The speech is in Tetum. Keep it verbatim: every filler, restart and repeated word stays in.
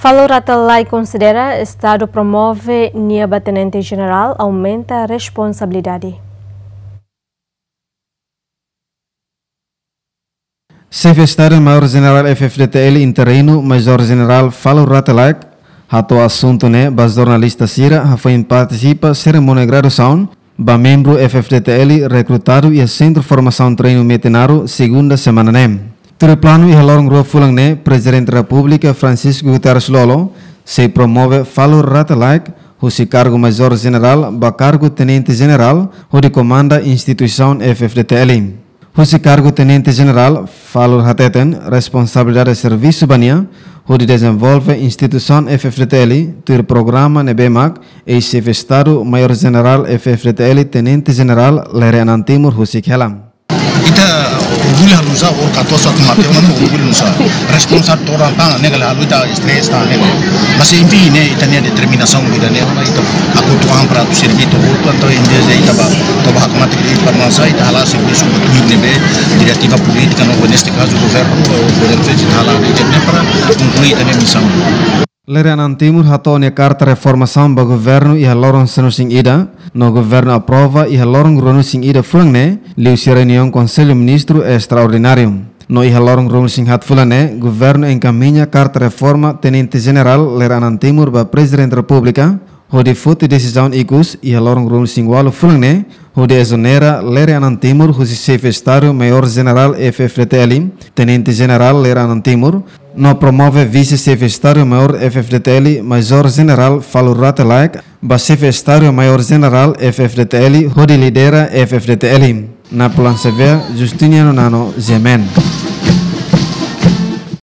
Falur Rate Laek konsidera Estadu promove nia ba Tenente Jenerál aumenta responsabilidade. Xefe Estadu Maiór Jenerál F-FDTL interinu, Majór Jenerál Falur Rate Laek, hato'o asuntu ne'e ba jornalista sira hafoin partisipa serimónia graduasaun ba membru F-FDTL rekrutadu iha Sentru Formasaun Treinu Metinaro, segunda semana ne'e. Tuir planu, iha loron rua fulan ne'e, Prezidente Repúblika Francisco Guterres Lú-Olo sei promove Falur Rate Laek husi kargu Majór Jenerál ba kargu Tenente Jenerál, hodi komanda instituisaun F-FDTL. Husi kargu Tenente Jenerál, Falur hateten responsabilidade servisu ba nia hodi dezenvolve instituisaun F-FDTL tuir programa ne'ebé mak eis-Xefe Estadu Maiór Jenerál F-FDTL, Tenente Jenerál Lere Anan Timur husik hela. Ita orgullu halo nu'usá, or katosa tu mate ona no orgullu nu'usá. Responsa toran tan, ne'e kala halo ita stress tan, ne'e. Mas enfim, ne'e, ita-nia determinasaun ida-ne'e, ita hakutu an para atu servi to'o hotu, entaun em vez de ita bá, atu bá hakmatek de'it para masa, ita hala'o servisu ba tuir ne'ebé diretiva polítika no, neste kazu, governu, o governu federál, ita ne'e para konklui ita-nia misaun. Lere Anan Timur hato'o nia karta reformasaun ba governu iha loron sanulu-resin-ida, no governu aprova iha loron ruanulu-resin-ida fulan ne'e, liuhusi reuniaun Konsellu Ministru estraordináriu. No iha loron ruanulu-resin-haat fulan ne'e, governu enkamiña karta reforma Tenente Jenerál Lere Anan Timur ba Prezidente Repúblika, hodi foti desizaun ikus iha loron ruanulu-resin-ualu fulan ne'e, hodi ezonera Lere Anan Timur husi Xefe Estadu Maiór Jenerál F-FDTL, Tenente Jenerál Lere Anan Timur, no promove Vise-Xefe Estadu Maiór F-FDTL, Majór Jenerál Falur Rate Laek, ba Xefe Estadu Maiór Jenerál F-FDTL, hodi lidera F-FDTL. Napoleão Xavier, Justiniano Nano, G M N.